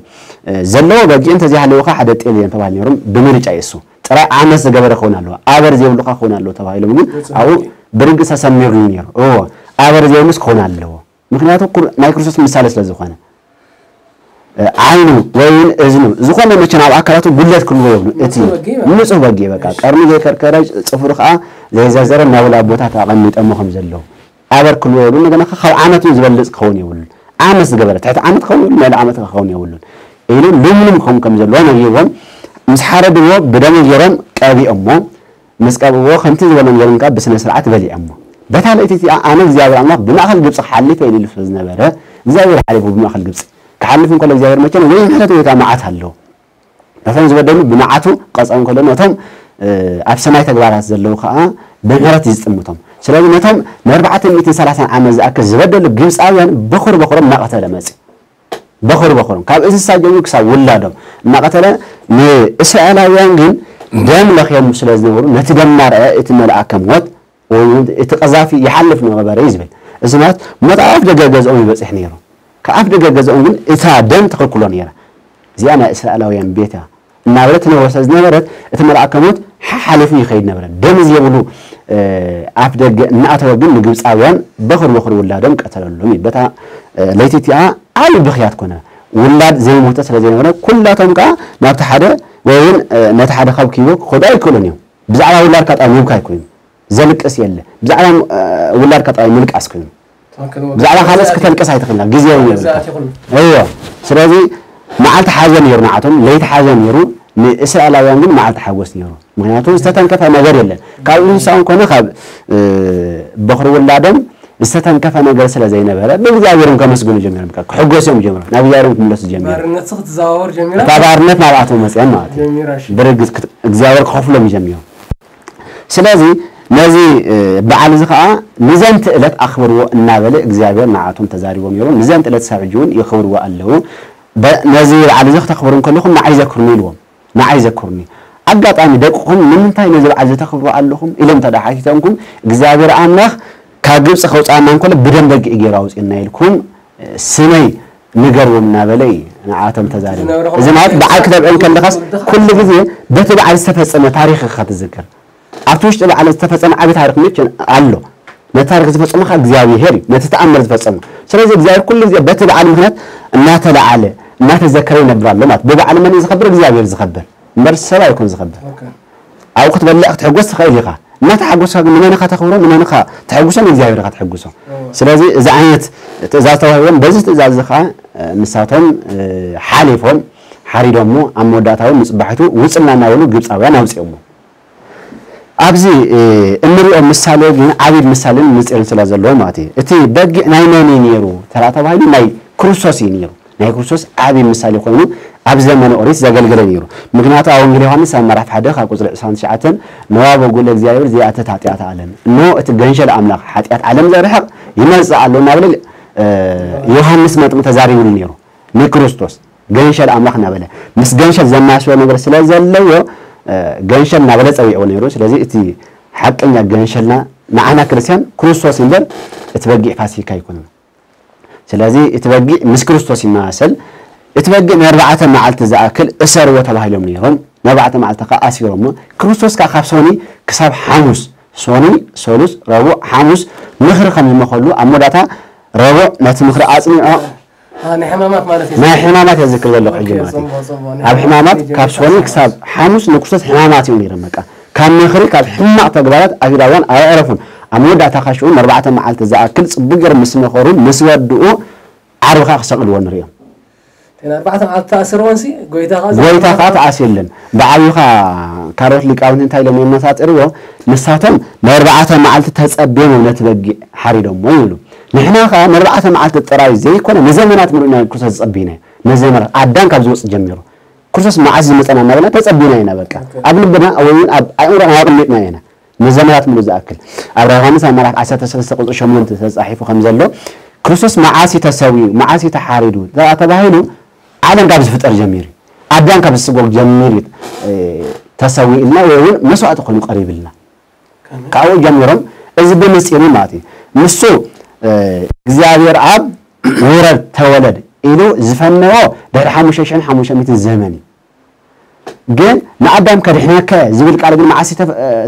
ዘለዎ በጊዕ እንተዘይሃለወ ከዓ ሓደ ጤል እዮም ተባሂሉ ነይሮም። ብምርጫ የሱ ጥራይ ዓመት ዝገበረ ክኸውን ኣለዎ፣ ኣበር ዘይብሉ ከዓ ክኸውን ኣለዎ ተባሂሎም። ግን ኣብኡ ብርግፅ ተሰሚሩ እዩ ነይሩ። እዎ፣ ኣበር ዘይብሉስ ክኸውን ኣለዎ። ምክንያቱ ኩር-፣ ናይ ክርስቶስ ምሳሌ ስለ ዝኾነ። ዓይኑ ወይ እውን እዝኑ ዝኾነ መቸን ኣብ ኣካላቱ ጉድለት ክህልዎ የብሉ። እቲ ንጹህ በጊዕ ማለት ንጹህ በጊዕ በቃ እሺ። ቀርኑ ዘይከርከረ፣ ጽፍሩ ከዓ ዘይዘርዘረ፣ ናብ ላቦታት ኣቐሚጠሞ ከም ዘለዉ ኣበር ክህልዎ የብሉ። እንደገና ካብ ዓመት እውን ዝበልጽ ክኸውን የብሉን። ዓመት ዝገበረ፣ ትሕቲ ዓመት ክኸውን የብሉን፣ ልዕሊ ዓመት ክኸውን የብሉን ኢሉ ልምሉም ክኸውን ከም ዘለዎ ነጊርዎም። ምስ ሓረድዎ ብደሙ ገይሮም ቀቢኦሞ። ምስ ቀብእዎ ከምቲ ዝበሎም ገይሮም ከዓ ብስነ ስርዓት በሊዖሞ። በታ ለይቲ እቲኣ ኣነ እግዚኣብሔር ኣምላኽ ብማእከል ግብጺ ክሓልፍ እየ ኢሉ ስለ ዝነበረ፣ እግዚኣብሔር ሓሊፉ ብማእከል ግብጺ። ክሓልፍ እንከሎ እግዚኣብሔር መቸም ወይ ምሕረት ወይ ከዓ መዓት ኣለዎ። ነቶም ዝበደሉ ብመዓቱ ክቐጽዖም ከሎ፣ ነቶም፣ እ፣ ኣብ ሰማይ ተግባራት ዘለዉ ከዓ ብምሕረት እዩ ዝጥምቶም። ስለዚ ነቶም ንኣርባዕተ ሚእትን ሰላሳን ዓመት ዝኣክል ዝበደሉ ግብጻውያን በኹር በኹሮም እናቐተለ መጺኡ። በኹር በኹሮም፣ ካብ እንስሳ ጀሚሩ ክሳብ ውላዶም እናቐተለ ንእስራኤላውያን ግን ደም ለኽዮም ስለ ዝነበሩ፣ ነቲ ደም እናረኣየ እቲ መልኣከ ሞት ወይ እውን እቲ ቀዛፊ ይሓልፍ ነበረ እዩ ዝብል። እዚ ማለት ሞት ኣብ ኣፍ ደገ ገዝኦም ይበጽሕ ነይሩ። ካብ ኣፍ ደገ ገዝኦም ግን እታ ደም ትኽልክሎ ነይራ። እዚኣ ናይ እስራኤላውያን ቤት እያ እናበለ ትነግሮ ስለ ዝነበረት፣ እቲ መልኣከ ሞት ሓሓሊፉ ይኸይድ ነበረ። ደም ዘይብሉ፣ እ፣ ኣፍ ደገ እናኣተወ ግን ንግብፃውያን በኹር በኹር ውላዶም ቀተለሎም እዩ። በታ፣ እ፣ ለይቲ እቲኣ ዓብዪ ብኽያት ኮነ። ውላድ ዘይሞተ ስለ ዘይነበረ፣ ኩላቶም ከዓ ናብቲ ሓደ ወይ እውን፣ እ፣ ነቲ ሓደ ካብ ክይቦ ክኸዱ ኣይክእሉን እዮም። ብዛዕባ ውላድካ ጥራይ ምብካይ ኮይኑ፣ ዘልቅስ የለ። ብዛዕባ፣ እ፣ ውላድካ ጥራይ ምልቃስ ኮይኑ። ትኽክል። ብዛዕባ ካልኦስ ክተልቅስ ኣይትኽእልና፣ ግዜ እውን የብልካ። እዮ። ስለዚ መዓልቲ ሓዘን ነይሩ ንዓቶም፣ ለይቲ ሓዘን ነይሩ፣ ንእስራኤላውያን ግን መዓልቲ ሓጎስ ነይሩ። ምኽንያቱ ዝተተንከፈ ነገር የለን። ካብ እንስሳውን ኮነ ካብ፣ እ፣ በኹሪ ውላዶም ዝተተንከፈ ነገር ስለ ዘይነበረ፣ ብእግዚኣብሔርም ከመስግኑ ጀሚሮም፣ ክሕጎሱ እዮም ጀሚሮም፣ ናብ እግዚኣብሔርም ክምለሱ ጀሚሮም። ባርነት ክትዘዋወር ጀሚራ። እታ ባርነት ናብኣቶም መፅኦም ማለት እዩ። ጀሚራ፣ እሺ። ብርግፅ ክት-፣ እግዚኣብሔር ክኸፍሎም እዩ ጀሚሮም። ስለዚ ነዚ፣ እ፣ በዓል እዚ ኸዓ ንዘንቲ ዕለት ኣኽብርዎ እናበለ እግዚኣብሔር ንዓቶም ተዛሪቦም ነይሩ። ንዘንቲ ዕለት ሳብ ሕጂ እውን የኽብርዎ ኣለዉ። በ-፣ ነዚ በዓል እዚ ክተኽብሩ እንከለኹም ንዓይ ዘክሩኒ ኢልዎም። ንዓይ ዘክሩኒ። ኣጋጣሚ ደቅኹም ንምንታይ ነዚ በዓል እዚ ተኽብሩ ኣለኹም ኢሎም እንተ ደኣ ሓቲቶምኩም፣ እግዚኣብሔር ኣምላኽ ካብ ግብፂ ከውፅኣና እንከሎ ብደም በጊዕ ገይሩ ኣውፅእና ኢልኩም፣ እ፣ ስመይ ንገርዎም እናበለ እዩ ንዓቶም ተዛሪቡ። ዝነበረ እዚ ማለት በዓል ክተብዕል ከለኻስ ኩሉ ግዜ በቲ በዓል ዝተፈጸመ ታሪኽ ኢኻ ትዝክር። ኣብቲ ውሽጢ በዓል ዝተፈጸመ ዓቢ ታሪኽ መቸ ኣሎ። ነቲ ታሪኽ ዝፈጸመ ኸኣ እግዚኣብሄር እዩ፣ ነቲ ተኣምር ዝፈጸመ። ስለዚ እግዚኣብሄር ኩሉ ግዜ በቲ በዓል ምኽንያት እናተለዓለ፣ እናተዘከረ ይነብር ኣሎ ማለት። ብበዓል መን እዩ ዝኸብር? እግዚኣብሄር ዝኸብር። እምበር ሰብ ኣይኮን ዝኸብር። ኦኬ። ኣብኡ ክትበልዕ ክትሕጎስ ትኽእል ኢኻ። እናተሓጎስካ ግን ንመን ኢኻ ተኽብሮ? ንመን ኢኻ ተሕጉሶ? ንእግዚኣብሄር ኢኻ ተሕጉሶ። እዎ። ስለዚ እዚ ዓይነት ትእዛዝ ተዋሂቦም፣ በዚ ትእዛዝ እዚ ኸኣ፣ እ፣ ንሳቶም፣ እ፣ ሓሊፎም፣ ሓሪዶሞ፣ ኣብ መወዳእታ እውን ንጽባሒቱ ውጽልና እናበሉ ግብጻውያን ኣውጺኦሞ። ኣብዚ፣ እ፣ እንሪኦ ምሳሌ ግን ዓብዪ ምሳሌን ምስጢርን ስለ ዘለዎ ማለት እዩ። እቲ በጊዕ ናይ መን እዩ ነይሩ ተራ ተባሂሉ ናይ ክርስቶስ እዩ ነይሩ። ናይ ክርስቶስ ዓብዪ ምሳሌ ኮይኑ ኣብ ዘመነ ኦሪት ዘገልገለ ነይሩ። ምክንያቱ ኣብ ወንጌል ዮሃንስ ኣብ ምዕራፍ ሓደ ካብ ቁጽሪ ዕስራን ትሽዓተን "ነዋ በጉ ለእግዚኣብሔር ዘየኣትት ኃጢአተ ዓለም፣ እነሆ እቲ ገንሸል ኣምላኽ ኃጢአት ዓለም ዘርሕቕ ይመጽእ ኣሎ" እናበለ፣ እ፣ ዮሃንስ መጥምቅ ተዛሪቡሉ ነይሩ። ንክርስቶስ ገንሸል ኣምላኽ እናበለ ምስ ገንሸል ዘመሳስሎ ነገር ስለ ዘለዎ፣ እ፣ ገንሸል እናበለ ጸዊዕዎ ነይሩ። ስለዚ እቲ ሓቀኛ ገንሸልና ንዓና ክርስቲያን ክርስቶስ እምበር እቲ በጊዕ ፋሲካ ኣይኮነን። ስለዚ እቲ በጊዕ ምስ ክርስቶስ ይመሳሰል። እቲ በጊዕ ንኣርባዕተ መዓልቲ ዝኣክል እሰርዎ ተባሂሎም ነይሮም። ንኣርባዕተ መዓልቲ ከኣ ኣሲሮሞ። ክርስቶስ ከኣ ካብ ሶኒ ክሳብ ሓሙስ፣ ሶኒ፣ ሰሉስ፣ ረቡዕ፣ ሓሙስ ምኽሪ ከም ዝመኸሉ ኣብ መወዳእታ ረቡዕ ነቲ ምኽሪ ኣጽኒዖ። አ፣ ናይ ሕማማት ማለት እዩ። ናይ ሕማማት እየ ዝዝክር ዘለኹ ሕጂ ኦኬ፣ ማለት እዩ። ጽቡቕ፣ ጽቡቕ። ናይ ኣብ ሕማማት ሕማማት ካብ ሶኒ ክሳብ ሓሙስ ንክርስቶስ ሕማማት እዮም ነይሮም። በቃ ካብ ምኽሪ፣ ካብ ሕማቕ ተግባራት ኣይሁዳውያን ኣየዕረፉን። ኣብ መወዳእታ ኸኣ ሽዑ ንኣርባዕተ መዓልቲ ዝኣክል ጽቡቕ ገይሮም ምስ መኸሩ፣ ምስ ወድኡ፣ ዓርቢ ኸኣ ክሰቕልዎ ንርእዮም። እተን ኣርባዕተ መዓልቲ ተኣስርወንሲ፣ ጎይታ ኸኣ ጎይታ ኸኣ ተኣሲርለን። ብዓብዩ ኸኣ ካልኦት ሊቃውንቲ እንታይ ኢሎም እዮም መሳጢርዎ? ንሳቶም ንኣርባዕተ መዓልቲ ተጸብዮም ነቲ በጊዕ ሓሪዶሞ ይብሉ። ንሕና ኸኣ ንኣርባዕተ መዓልቲ ጥራይ ዘይኮነ፣ ንዘመናት ምሉእ ኢና ክርስቶስ ዝጸበይናዮ። ንዘመናት፣ ኣዳም ካብ ዝወጽእ ጀሚሩ። ክርስቶስ መዓስ ዝመጸና እናበልና ተጸቢና ኢና። በቃ ኣብ ልብና ወይ እውን ኣብ ኣእምሮና ኣቕሚጥና ኢና። ንዘመናት ሙሉ ዝኣክል ኣብ ራእይ ዮሃንስ ኣብ ምዕራፍ ዓሰርተ ሰለስተ ቁጽሪ ሸሞንተ ተጻሒፉ ከም ዘሎ ክርስቶስ መዓስ እዩ ተሰዊኡ፣ መዓስ እዩ ተሓሪዱ ተባሂሉ ዓለም ካብ ዝፍጠር ጀሚሩ፣ ኣዳም ካብ ዝስጎግ ጀሚሩ ተሰዊእልና ወይ እውን መስዋእቲ ኮይኑ ቀሪብልና። ካብኡ ጀሚሮም እዚ ብምስጢር እዩ ማለት እዩ። ንሱ እግዚኣብሔር ኣብ ውረድ ተወለድ ኢሉ ዝፈነዎ ድሕሪ ሓሙሽተ ሽሕን ሓሙሽተ ሚእትን ዘመን እዩ። ግን ንኣዳም ከድሕነከ ዝብል ቃል ግን መዓስ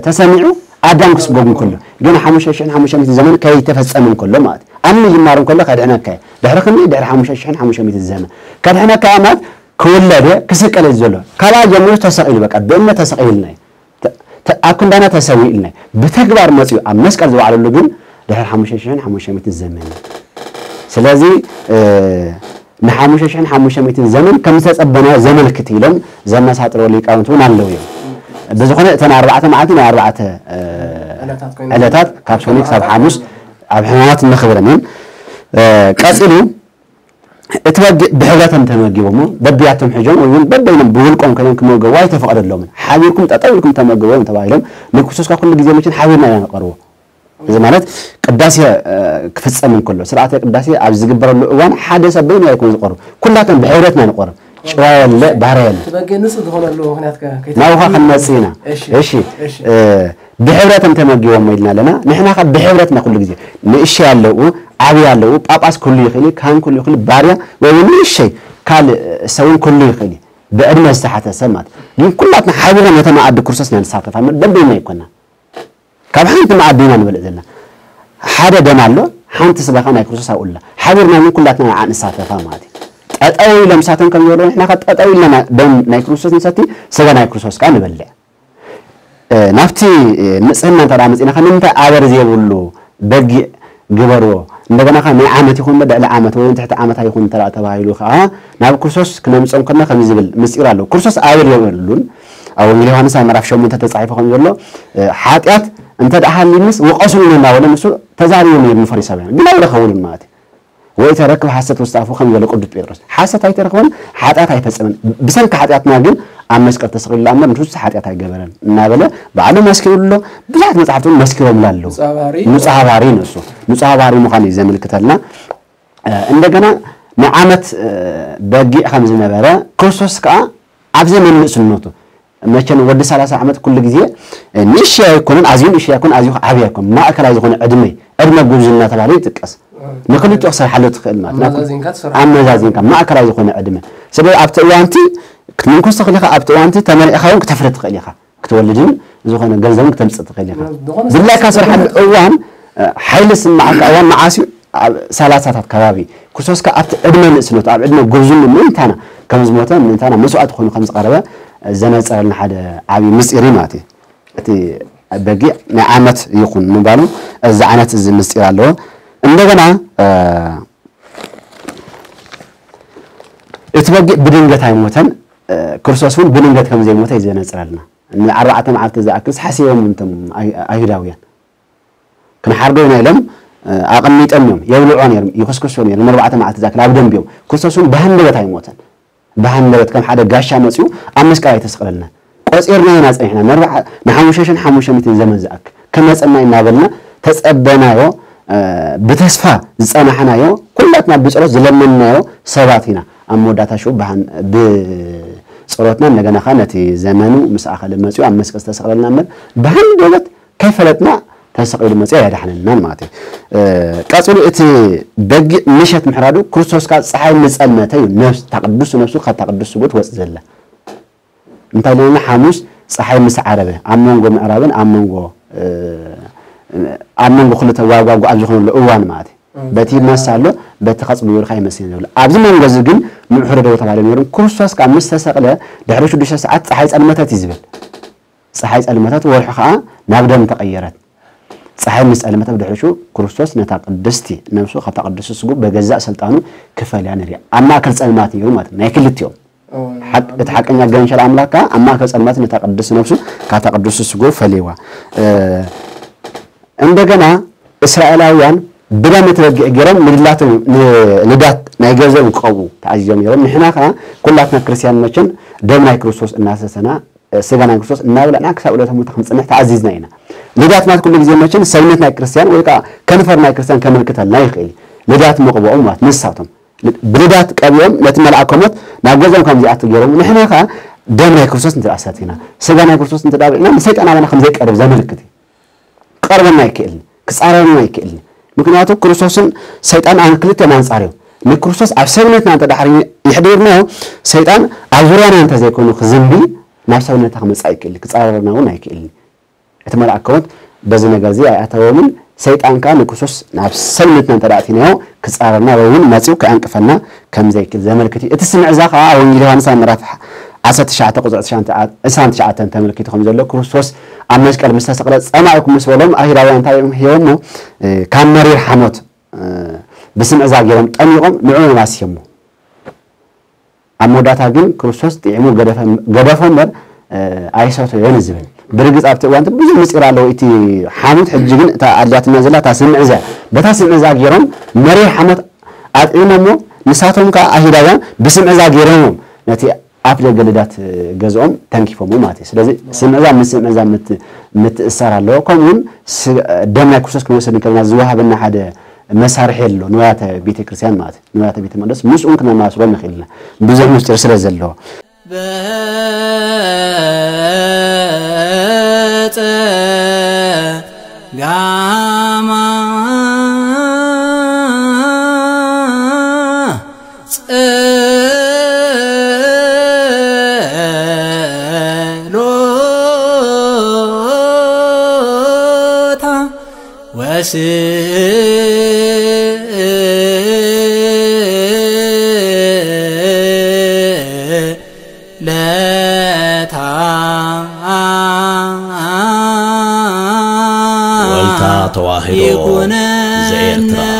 ተሰሚዑ? ኣዳም ክስጎግ እንከሎ፣ ግን ሓሙሽተ ሽሕን ሓሙሽተ ሚእትን ዘመን ከይተፈጸመ እንከሎ ማለት እዩ። ኣብ ምጅማሩ እንከሎ ከድሕነከ ድሕሪ ክንደይ? ድሕሪ ሓሙሽተ ሽሕን ሓሙሽተ ሚእትን ዘመን ከድሕነከ ማለት ክውለድ ክስቀል እዩ ዘሎ። ካብኣ ጀሚሩ ተሰቒሉ፣ በቃ ብእምነት ተሰቒልና እዩ። ኣብ ክንዳና ተሰዊእልና እዩ። ብተግባር መጺኡ ኣብ መስቀል ዝወዓለሉ ግን ድሕሪ ሓሙሽተ ሽሕን ሓሙሽተ ሚእትን ዘመን እዩ። ስለዚ ንሓሙሽተ ሽሕን ሓሙሽተ ሚእትን ዘመን ከም ዝተጸበናዮ ዘመልክት ኢሎም ዘመሳጥርዎ ሊቃውንቲ እውን ኣለዉ እዮም። ብዝኾነ እተን ኣርባዕተ መዓልቲ ናይ ኣርባዕተ ዕለታት ካብ ሰኑይ ክሳብ ሓሙስ ኣብ ሕማማት እነኽብረን እየን። ቀጺሉ እቲ በጊዕ ብሕብረት እንተመጊቦሞ በቢያቶም ሕጆም ወይ እውን በበይኖም ብውልቆም ኮይኖም ክመገቡ ኣይተፈቐደሎምን። ሓቢርኩም ጠጠው ኢልኩም ተመገቦም ተባሂሎም ንክርስቶስ ካብ ኩሉ ግዜ መችን ሓቢርና ኢና ንቐርቦ። እዚ ማለት ቅዳሴ ክፍጸም እንከሎ ስርዓተ ቅዳሴ ኣብ ዝግበረሉ እዋን ሓደ ሰብ በይኑ ኣይኮን ዝቐርብ፣ ኩላቶም ብሕብረት ኢና ንቐርብ። ጭዋ የለ ባርያ የለ። እቲ በጊዕ ንጹህ ዝኾነሉ ምኽንያት ከ ናብኻ ከይተረድእ? ክንመጽእ ኢና። እሺ። እሺ። እሺ። ብሕብረት እንተመጊቦም ኢልና ኣለና። ንሕና ከ ብሕብረትና ኩሉ ግዜ ንእሽተይ ኣለዉ፣ ዓብይ ኣለዉ፣ ጳጳስ ኩሉ ይኽእል እዩ፣ ካህን ኩሉ ይኽእል እዩ፣ ባርያ ወይ እውን ንእሽተይ ካልእ ሰብ እውን ኩሉ ይኽእል እዩ። ብዕድመ ዝተሓተ ሰብ ማለት ግን ኩላትና ሓቢርና ነቲ መኣዲ ክርስቶስ ኢና ንሳተፍ። ኣብ ደበይና ኣይኮና። ካብ ሓንቲ መኣዲ ኢና ንበልዕ ዘለና። ሓደ ደም ኣሎ፣ ሓንቲ ስጋኻ ናይ ክርስቶስ ኣብኡ ኣላ። ሓቢርና ግን ኩላትና ንዓ ንሳተፋ ማለት እዩ። ጠጠው ኢሎም ንሳቶም ከም ዝበልዎ ንሕና ከ ጠጠው ኢልና ደም ናይ ክርስቶስ ንሰቲ፣ ስጋ ናይ ክርስቶስ ከኣ ንበልዕ። ናብቲ ንጽህና እንተ ደኣ መጺእና ከ ንምንታይ ኣበር ዘይብሉ በጊዕ ግበርዎ? እንደገና ከ ናይ ዓመት ይኹን እምበር ልዕሊ ዓመት ወይ እውን ትሕቲ ዓመት ኣይኹን እንተ ደኣ ተባሂሉ ከኣ ናብ ክርስቶስ ክነምጽኦም ከለና ከምዚ ዝብል ምስጢር ኣለዎ። ክርስቶስ ኣበር የብሉን። ኣብ ወንጌል ዮሃንስ ኣብ ምዕራፍ ሸሞንተ ተጻሒፉ ከም ዘሎ ሓጢኣት እንተ ደኣ ሃልዩንስ ውቐሱኒ እናበለ ንሱ ተዛሪቡ ነይሩ ንፈሪሳውያን። ግን ኣይረኸቡሉን ማለት እዩ። ወይ ተረክብ ሓሰት ውስተ ኣፉ ከም ዝበለ ቅዱስ ጴጥሮስ ሓሰት ኣይተረኽበን፣ ሓጢኣት ኣይፈጸመን። ብሰንኪ ሓጢኣትና ግን ኣብ መስቀል ተሰቒሉ እምበር ንሱ ሓጢኣት ኣይገበረን እናበለ ባዕሉ መስኪሩሉ ኣሎ። ብዙሓት መጻሕፍቲ እውን መስኪሮምሉ ኣለዉ። ንጹሃ ባህሪ። ንጹሃ ባህሪ ንሱ ንጹሃ ባህሪ ምዃኑ እዩ ዘመልክተልና። እንደገና ንዓመት በጊዕ ከም ዝነበረ ክርስቶስ ከኣ ኣብ ዘመን ንእስነቱ መቸም ወዲ ሰላሳ ዓመት ኩሉ ግዜ ንእሽተይ ኣይኮነን፣ ኣዝዩ ንእሽተይ ኣይኮነን፣ ኣዝዩ ዓብዪ ኣይኮነን። ማእከላይ ዝኾነ ዕድመ፣ ዕድመ ጉብዝና ተባሂሉ ይጥቀስ። ንክልቲኡ ክሰርሓሉ ትኽእል ማለት ናብ ኣመዛዚንካ ትሰርሖ። ኣመዛዚንካ ማእከላይ ዝኾነ ዕድመ። ስለዚ ኣብቲ እዋንቲ ክትምንኩስ ትኽእል ኢኻ፣ ኣብቲ እዋንቲ ተመሪዕኻ እውን ክተፍሪ ትኽእል ኢኻ። ክትወልድን ዝኾነ ገንዘብን ክተምጽእ ትኽእል ኢኻ። ዝኾነ ድላይካ ስራሕ ስራሕ እዋን፣ እ፣ ሓይሊ ዝስምዓካ እዋን መዓስ እዩ? ኣብ ሰላሳታት ከባቢ። ክርስቶስ ከኣ ኣብቲ ዕድመ ንእስነቱ፣ ኣብ ዕድመ ጉብዝኑ ምእንታና ከም ዝሞተ፣ ምእንታና መስዋእቲ ኮይኑ ከም ዝቐረበ ዘነጸረልና ሓደ ዓብዪ ምስጢር እዩ ማለት እዩ። እቲ በጊዕ ናይ ዓመት ይኹን ምባሉ እዚ ዓይነት እዚ ምስጢር ኣለዎ። እንደገና፣ እ፣ እቲ በጊዕ ብድንገት ኣይሞተን፣ እ፣ ክርስቶስ እውን ብድንገት ከም ዘይሞተ እዩ ዘነጽረልና። ንኣርባዕተ መዓልቲ ዝኣክልስ ሓሲቦም እንቶም ኣይ-፣ ኣይሁዳውያን። ክንሓርዶ ኢና ኢሎም፣ እ፣ ኣቐሚጦም እዮም። የብልዖ ነይሮም፣ ይኹስኩሶ ነይሮም። ንኣርባዕተ መዓልቲ ዝኣክል ኣብ ደንቢኦም። ክርስቶስ እውን ብሃንደበት ኣይሞተን። ብሃንደበት ከም ሓደ ጋሻ መጺኡ ኣብ መስቀል ኣይተሰቕለልናን። ቆጺርና ኢና ጸኒሕና። ንኣርባዓ-፣ ንሓሙሽተ ሽሕን ሓሙሽተ ሚእትን ዘመን ዝኣክል ክመጸና እናበልና ተጸበናዮ፣ እ፣ ብተስፋ ዝጸናሕናዮ፣ ኩላትና ብጸሎት ዝለመንናዮ ሰባት ኢና። ኣብ መወዳእታ ሽዑ ብሃን-፣ ብጸሎትና እንደገና ኸኣ ነቲ ዘመኑ ምስ ኣኸለ መጺኡ ኣብ መስቀል ዝተሰቕለልና እምበር ብሃንደበት ከይፈለጥና ተሰቒሉ መጺኡ ኣየድሓነናን ማለት እዩ። እ፣ ቀጺሉ እቲ በጊዕ ምሸት ምሕራዱ ክርስቶስ ካብ ጸሓይ ምስ ጸልመተ እዩ ነፍስ-፣ እታ ቅድስቲ ነፍሱ ካብታ ቅድስቲ ስግኡ ትወጽእ ዘላ። እንታይ ኢልና ሓሙስ ጸሓይ ምስ ዓረበ ኣብ መንጎ ምዕራብን ኣብ መንጎ፣ እ፣ ኣብ መንጎ ክልተ ዋጓጉ ኣብ ዝኾነሉ እዋን ማለት እዩ። እም። በቲ ይመስ ኣሎ፣ በቲ ኸጽ ብብርኻ ይመስ እዩ ዘሎ። ኣብዚ መንጎ እዚ ግን ምሕረዶ ተባሂሉ ነይሩ። ክርስቶስ ካብ ምስ ተሰቕለ ድሕሪ ሽዱሽተ ሰዓት ጸሓይ ጸልመተት እዩ ዝብል። ጸሓይ ጸልመተት፣ ወርሒ ኸኣ ናብ ደም ተቐየረት። ጸሓይ ምስ ጸልመተ ብድሕሪኡ ክርስቶስ ነታ ቅድስቲ ነፍሱ ካብታ ቅድስቲ ስጉ በገዛእ ስልጣኑ ክፈልያ ንሪኣ። ኣብ ማእከል ጸልማት ነይሩ ማለት እዩ፣ ናይ ክልቲኦም። እዎ፣ ሓቅ-፣ እቲ ሓቀኛ ገንሸል ኣምላክ ከኣ ኣብ ማእከል ጸልማት ነታ ቅድስቲ ነፍሱ ካብታ ቅድስቲ ስጉ ፈለይዋ። እ፣ እንደገና እስራኤላውያን ብደም እቲ በጊዕ ገይሮም ንድላቶም፣ ን-፣ ንዳት ናይ ገንዘቦም ክቐብኡ ተኣዚዞም ነይሮም። ንሕና ከኣ ኩላትና ክርስትያን መቸም ደም ናይ ክርስቶስ እናሰተና፣ ስጋ ናይ ክርስቶስ እናበላዕና ክሳብ ዕለተ ሞት ክንጽንሕ ተኣዚዝና ኢና። ልዳት ማለት ኩሉ ግዜ መቸም ሰብነት ናይ ክርስቲያን ወይ ከዓ ከንፈር ናይ ክርስቲያን ከመልክተልና ይኽእል እዩ። ልዳት መቕብኦም ማለት ንሳቶም ብልዳት ቀቢኦም ነቲ መልኣከ ሞት ናብ ገዛኦም ከም ዝኣቱ ገይሮም፣ ንሕና ከዓ ደም ናይ ክርስቶስ እንተ ሰቲና፣ ስጋ ናይ ክርስቶስ እንተ በሊዕና፣ ንሰይጣን ኣባና ከም ዘይቀርብ ዘመልክት እዩ። ክቐርበና ኣይክእልን፣ ክጻረረና ኣይክእልን። ምክንያቱ ክርስቶስን ሰይጣን ኣን ክልተ ኣንጻር እዮም። ንክርስቶስ ኣብ ሰብነትና እንተ ድሕሪ ይሕዲርናዮ፣ ሰይጣን ኣብ ዙርያና እንተ ዘይኮኑ ክዝንቢ፣ ናብ ሰብነትና ክመጽእ ኣይክእልን፣ ክጻረረና እውን ኣይክእልን። እቲ መልኣከ ሞት በዚ ነገር እዚ ኣይኣተዎምን። ሰይጣን ከኣ ንክርስቶስ ናብ ሰብነትና እንተ ኣእቲናዮ፣ ክጻረርና ወይ እውን መጺኡ ክዕንቅፈና ከም ዘይክእል ዘመልክት እዩ። እቲ ስምዕዛ ከኣ ኣብ ወንጌል ዮሃንስ ኣብ ምዕራፍ ዓሰርተ ትሽዓተ ቁጽሪ ዕስራን ትሽዓተን ተመልኪቱ ከም ዘሎ፣ ክርስቶስ ኣብ መስቀል ምስ ተሰቕለ ጸማኢኩም ምስ በሎም፣ ኣይሁዳውያን እንታይ እዮም ሂቦሞ? እ፣ ካብ መሪር ሓሞት፣ እ፣ ብስምዕዛ ገይሮም ጠሚቖም ንዕኡ ኣስዮሞ። ኣብ መወዳእታ ግን ክርስቶስ ጥዒሙ ገደፈ-፣ ገደፎ እምበር፣ እ፣ ኣይሰተዮን ዝብል። ብርግጽ ኣብቲ እዋን እቲ ብዙሕ ምስጢር ኣለዎ። እቲ ሓሞት ሕጂ ግን እታ ኣድልያትና ዘላ እታ ስምዕዛ። በታ ስምዕዛ ገይሮም መሪር ሓሞት ኣጥዒሞሞ፣ ንሳቶም ከኣ ኣይሁዳውያን ብስምዕዛ ገይሮም ነቲ ኣፍ ደገ ልዳት ገዝኦም ተንኪፎሞ ማለት እዩ። ስለዚ ስምዕዛ ምስ ስምዕዛ ምት-፣ ምትእሳር ኣለዎ። ከምኡ እውን ስ-፣ ደም ናይ ክርስቶስ ክንወስድ እንከለና ዝወሃበና ሓደ መሳርሒ ኣሎ፣ ንዋያተ ቤተ ክርስቲያን ማለት እዩ። ንዋያተ ቤተ መቅደስ ምስኡን ክነማስሎ ንኽእል ኢና፣ ብዙሕ ምስጢር ስለ ዘለዎ። በጸ ጋማ ጸሎታ ወስእለታ ወልታ ተዋህዶ ይኩነነ ዘኤርትራ።